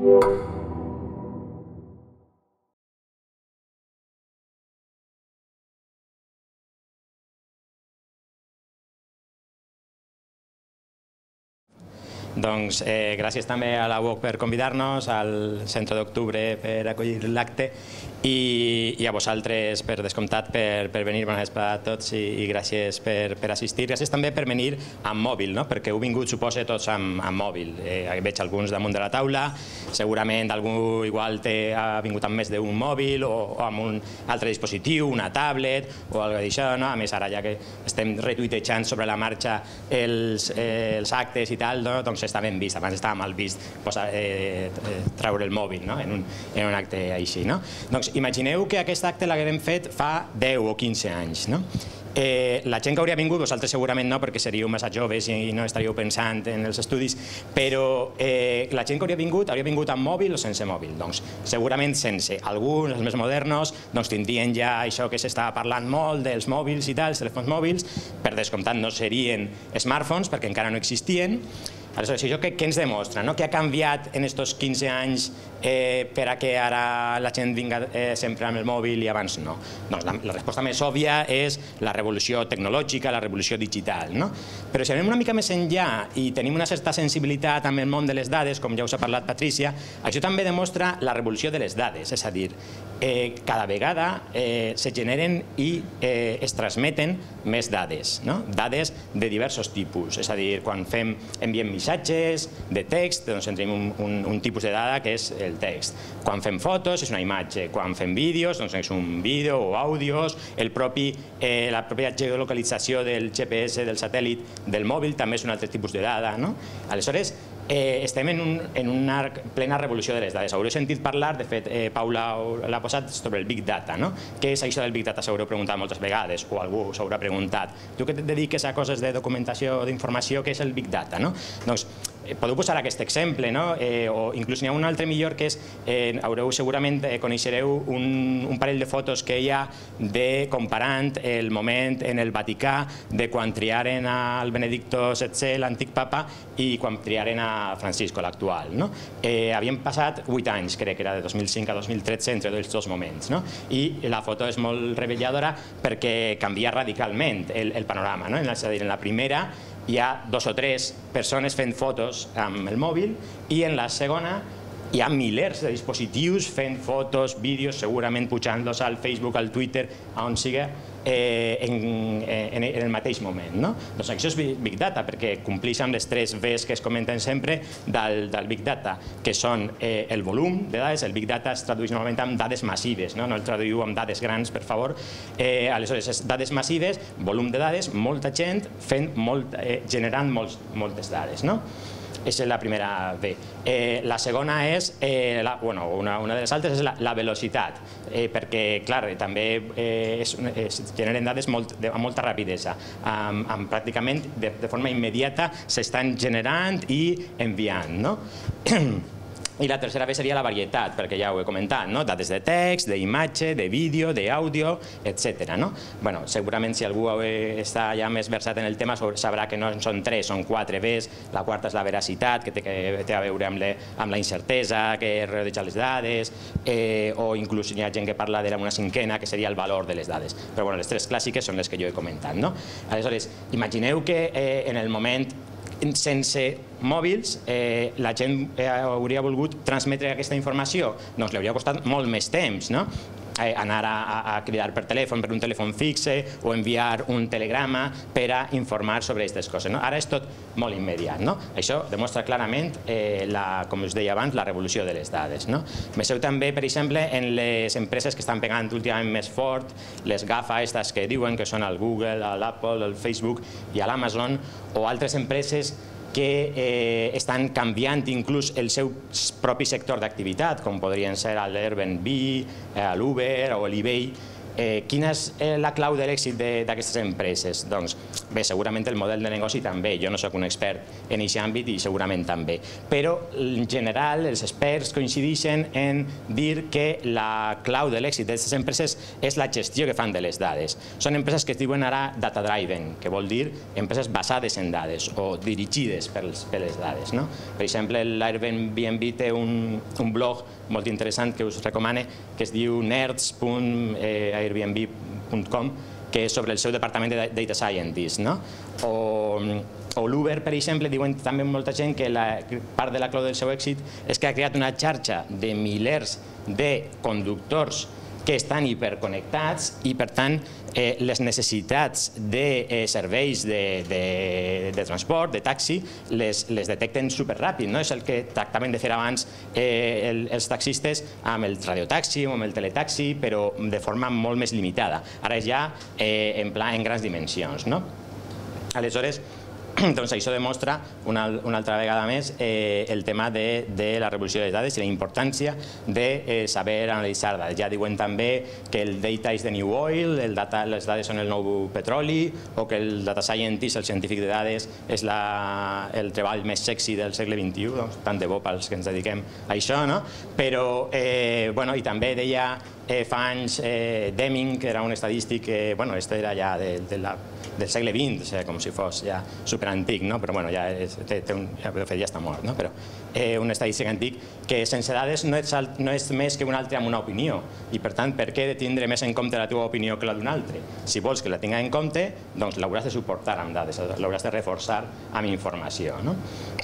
Doncs gràcies també a la UOC per convidar-nos, al Centre d'Octubre per acollir l'acte i a vosaltres, per descomptat, per venir. Bona vesprada a tots i gràcies per assistir. Gràcies també per venir amb mòbil, perquè heu vingut, suposa, tots amb mòbil. Veig alguns damunt de la taula, segurament algú igual ha vingut amb més d'un mòbil o amb un altre dispositiu, una tablet o alguna cosa d'això. A més, ara ja que estem retuitejant sobre la marxa els actes i tal, doncs està ben vist. Abans estava mal vist treure el mòbil en un acte així. Doncs imagineu que aquest acte l'haguem fet fa 10 o 15 anys. La gent que hauria vingut, vosaltres segurament no, perquè seríeu massa joves i no estaríeu pensant en els estudis, però la gent que hauria vingut amb mòbil o sense mòbil? Doncs segurament sense. Alguns, els més modernos, tindrien ja això que s'està parlant molt dels mòbils i tal, els telèfons mòbils. Per descomptat no serien smartphones perquè encara no existien. Aleshores, això què ens demostra? Què ha canviat en aquests 15 anys per a que ara la gent vinga sempre amb el mòbil i abans no? Doncs la resposta més òbvia és la revolució tecnològica, la revolució digital. Però si anem una mica més enllà i tenim una certa sensibilitat amb el món de les dades, com ja us ha parlat Patrícia, això també demostra la revolució de les dades, és a dir, cada vegada se generen i es transmeten més dades, dades de diversos tipus, és a dir, quan enviem missatges de text, doncs tenim un tipus de dada que és el text. Quan fem fotos és una imatge, quan fem vídeos doncs és un vídeo o àudios, la pròpia geolocalització del GPS, del satèl·lit, del mòbil també és un altre tipus de dada. Aleshores, estem en una plena revolució de les dades. Haureu sentit parlar, de fet, Paula l'ha posat, sobre el Big Data. Què és això del Big Data? S'haureu preguntat moltes vegades, o algú s'haurà preguntat. Tu que et dediques a coses de documentació, d'informació, què és el Big Data? Doncs podeu posar aquest exemple, o inclús n'hi ha un altre millor que és, segurament coneixereu un parell de fotos que hi ha comparant el moment en el Vaticà de quan triaren al Benedicto XVI, l'antic papa, i quan triaren a Francisco, l'actual. Havien passat 8 anys, crec que era de 2005 a 2013, entre els dos moments. I la foto és molt reveladora perquè canvia radicalment el panorama. És a dir, en la primera hi ha 2 o 3 persones fent fotos amb el mòbil i en la segona hi ha milers de dispositius fent fotos, vídeos, segurament pujant-los al Facebook, al Twitter, a on sigui, en el mateix moment. Doncs això és Big Data, perquè compleix amb les 3 Vs que es comenten sempre del Big Data, que són el volum de dades. El Big Data es tradueix normalment amb dades massives, no el traduïu amb dades grans, per favor. Aleshores, dades massives, volum de dades, molta gent generant moltes dades. Aquesta és la primera V. La segona és, una de les altres és la velocitat, perquè, clar, també es generen dades amb molta rapidesa. Pràcticament de forma immediata s'estan generant i enviant. I la tercera V seria la varietat, perquè ja ho he comentat, dades de text, d'imatge, de vídeo, d'àudio, etc. Segurament si algú està ja més versat en el tema sabrà que no són 3, són 4 Vs. La quarta és la veracitat, que té a veure amb la incertesa, que rodeja les dades, o inclús hi ha gent que parla d'una cinquena, que seria el valor de les dades. Però les 3 clàssiques són les que jo he comentat. Aleshores, imagineu que en el moment sense mòbils la gent hauria volgut transmetre aquesta informació, doncs li hauria costat molt més temps, anar a cridar per telèfon, per un telèfon fixe, o enviar un telegrama per a informar sobre aquestes coses. Ara és tot molt immediat. Això demostra clarament, com us deia abans, la revolució de les dades. Veieu també, per exemple, en les empreses que estan pegant últimament més fort, les GAFA, aquestes que diuen que són el Google, l'Apple, el Facebook i l'Amazon, o altres empreses que estan canviant inclús el seu propi sector d'activitat, com podrien ser l'Airbnb, l'Uber o l'eBay, quina és la clau de l'èxit d'aquestes empreses? Doncs bé, segurament el model de negoci també. Jo no soc un expert en aquest àmbit i segurament també. Però en general els experts coincideixen en dir que la clau de l'èxit d'aquestes empreses és la gestió que fan de les dades. Són empreses que es diuen ara data-driven, que vol dir empreses basades en dades o dirigides per les dades. Per exemple, l'Airbnb té un blog molt interessant que us recomano, que es diu nerds.airbnb.com, que és sobre el seu departament de Data Scientist. O l'Uber, per exemple, diuen també molta gent que part de la clau del seu èxit és que ha creat una xarxa de milers de conductors que estan hiperconnectats i, per tant, les necessitats de serveis de transport, de taxi, les detecten superràpid. És el que tractaven de fer abans els taxistes amb el radiotaxi o amb el teletaxi, però de forma molt més limitada. Ara és ja en grans dimensions. Aleshores, doncs això demostra una altra vegada més el tema de la revolució de les dades i la importància de saber analitzar dades. Ja diuen també que el data is the new oil, les dades són el nou petroli, o que el data scientist, el científic de dades, és el treball més sexy del segle XXI, tant de bo pels que ens dediquem a això, però, i també deia fa anys Deming, que era un estadístic, este era ja del segle XX, com si fos ja superantic, però ja està mort, però un estadístic antic que sense dades no és més que un altre amb una opinió, i per tant, per què he de tindre més en compte la teva opinió que la d'un altre? Si vols que la tinga en compte, doncs l'hauràs de suportar amb dades, l'hauràs de reforçar amb informació.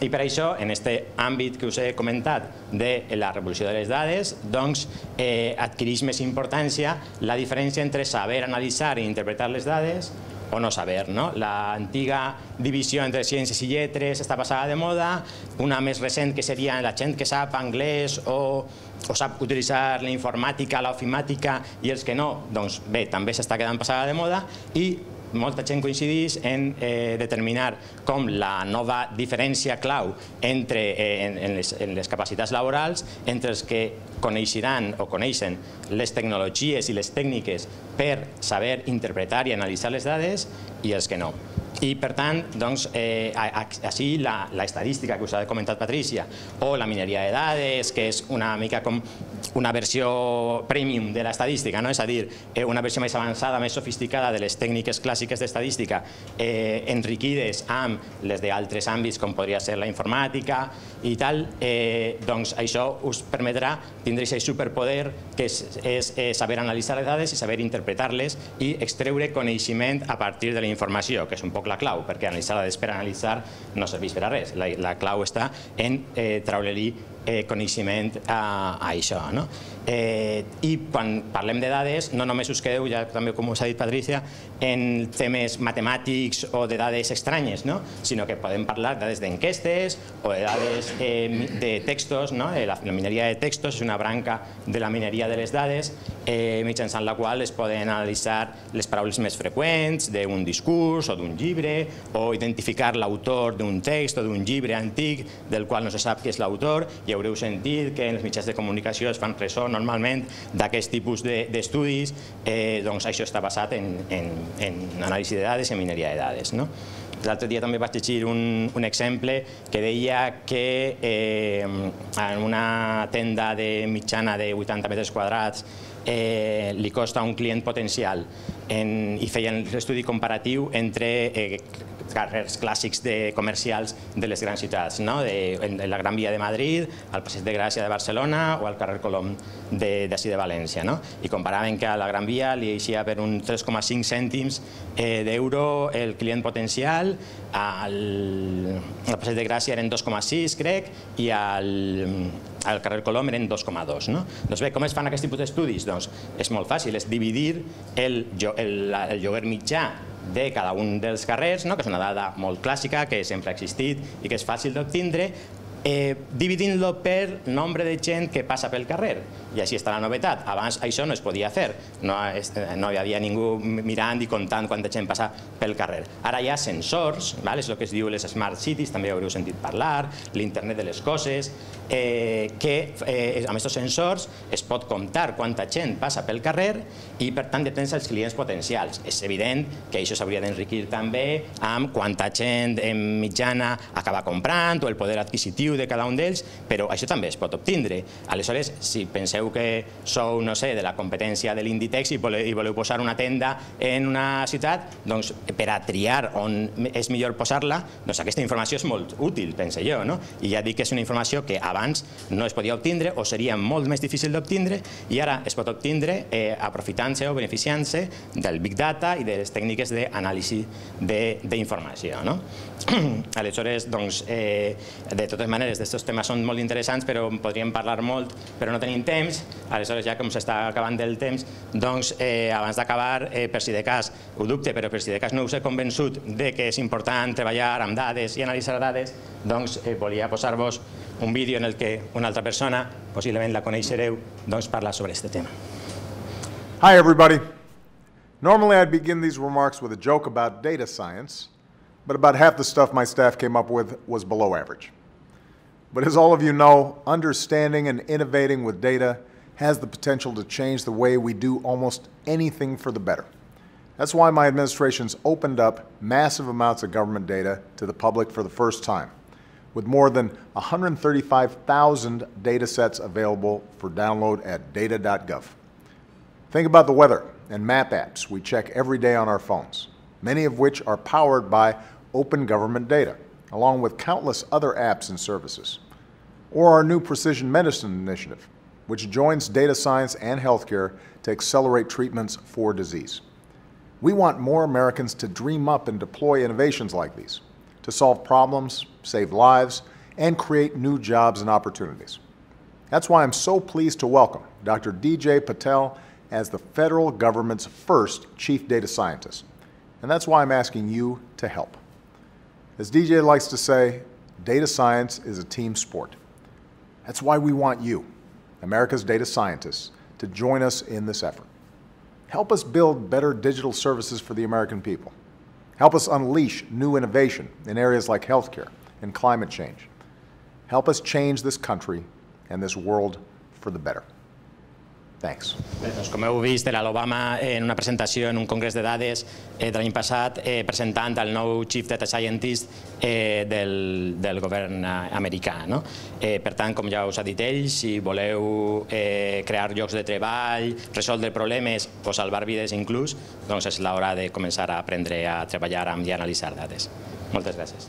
I per això, en aquest àmbit que us he comentat de la revolució de les dades, doncs adquireix més importància la diferència entre saber analitzar i interpretar les dades o no saber. L'antiga divisió entre ciències i lletres està passada de moda, una més recent que seria la gent que sap anglès o sap utilitzar la informàtica, l'ofimàtica, i els que no, doncs bé, també s'està quedant passada de moda, i molta gent coincideix en determinar com la nova diferència clau en les capacitats laborals entre els que coneixeran o coneixen les tecnologies i les tècniques per saber interpretar i analitzar les dades i els que no. I, per tant, així l'estadística que us ha comentat Patrícia, o la mineria de dades, que és una mica com una versió premium de l'estadística, és a dir, una versió més avançada, més sofisticada de les tècniques clàssiques d'estadística, enriquides amb les d'altres àmbits, com podria ser la informàtica i tal, doncs això us permetrà tindre aquest superpoder que és saber analitzar les dades i saber interpretar-les i extreure coneixement a partir de la informació, que és un poc la clau, perquè analitzar dades per analitzar no serveix per a res. La clau està en treure-li coneixement a això. I quan parlem de dades, no només us quedeu, ja també com us ha dit Patrícia, en temes matemàtics o de dades estranyes, sinó que podem parlar de dades d'enquestes o de dades de textos. La mineria de textos és una branca de la mineria de les dades mitjançant la qual es poden analitzar les paraules més freqüents d'un discurs o d'un llibre, o identificar l'autor d'un text o d'un llibre antic del qual no se sap qui és l'autor, i haureu sentit que en els mitjans de comunicació es fan ressò normalment d'aquest tipus d'estudis. Doncs això està basat en anàlisi de dades i en mineria de dades. L'altre dia també vaig llegir un exemple que deia que en una tenda mitjana de 80 metres quadrats li costa a un client potencial, i feien l'estudi comparatiu entre carrers clàssics comercials de les grans ciutats, en la Gran Via de Madrid, al Passeig de Gràcia de Barcelona o al carrer Colom d'ací de València. I comparaven que a la Gran Via li eixia per un 3,5 cèntims d'euro el client potencial, al Passeig de Gràcia eren 2,6, crec, i al carrer Colom eren 2,2. Doncs bé, com es fan aquests tipus d'estudis? Doncs és molt fàcil, és dividir el lloguer mitjà de cada un dels carrers, que és una dada molt clàssica, que sempre ha existit i que és fàcil d'obtindre, dividint-lo per nombre de gent que passa pel carrer. I així està la novetat. Abans això no es podia fer. No hi havia ningú mirant i comptant quanta gent passa pel carrer. Ara hi ha sensors, és el que es diu les Smart Cities, també haureu sentit parlar, l'internet de les coses, que amb aquests sensors es pot comptar quanta gent passa pel carrer i per tant depèn dels clients potencials. És evident que això s'hauria d'enriquir també amb quanta gent en mitjana acaba comprant o el poder adquisitiu de cada un d'ells, però això també es pot obtindre. Aleshores, si penseu que sou, no sé, de la competència de l'Inditex i voleu posar una tenda en una ciutat, doncs per a triar on és millor posar-la, doncs aquesta informació és molt útil, penso jo, no? I ja dic que és una informació que abans no es podia obtindre o seria molt més difícil d'obtindre i ara es pot obtindre aprofitant-se o beneficiant-se del Big Data i de les tècniques d'anàlisi d'informació. Aleshores, doncs, de totes maneres, aquests temes són molt interessants, però en podríem parlar molt, però no tenim temps. Aleshores, ja com s'està acabant el temps, doncs, abans d'acabar, per si de cas, ho dubte, però per si de cas no us he convençut de que és important treballar amb dades i analitzar dades, doncs volia posar-vos un vídeo en el que una altra persona, possiblement la coneixereu, doncs parla sobre aquest tema. Hi, everybody. Normally, I'd begin these remarks with a joke about data science, but about half the stuff my staff came up with was below average. But as all of you know, understanding and innovating with data has the potential to change the way we do almost anything for the better. That's why my administration's opened up massive amounts of government data to the public for the first time, with more than 135,000 data sets available for download at data.gov. Think about the weather and map apps we check every day on our phones, many of which are powered by open government data, along with countless other apps and services. Or our new Precision Medicine Initiative, which joins data science and healthcare to accelerate treatments for disease. We want more Americans to dream up and deploy innovations like these, to solve problems, save lives, and create new jobs and opportunities. That's why I'm so pleased to welcome Dr. DJ Patel as the federal government's first chief data scientist. And that's why I'm asking you to help. As DJ likes to say, data science is a team sport. That's why we want you, America's data scientists, to join us in this effort. Help us build better digital services for the American people. Help us unleash new innovation in areas like healthcare and climate change. Help us change this country and this world for the better. Thanks. Doncs com heu vist, era l'Obama en una presentació en un congrés de dades de l'any passat presentant el nou Chief Data Scientist del govern americà. Per tant, com ja us ha dit ell, si voleu crear llocs de treball, resoldre problemes o salvar vides inclús, doncs és l'hora de començar a aprendre a treballar amb i analitzar dades. Moltes gràcies.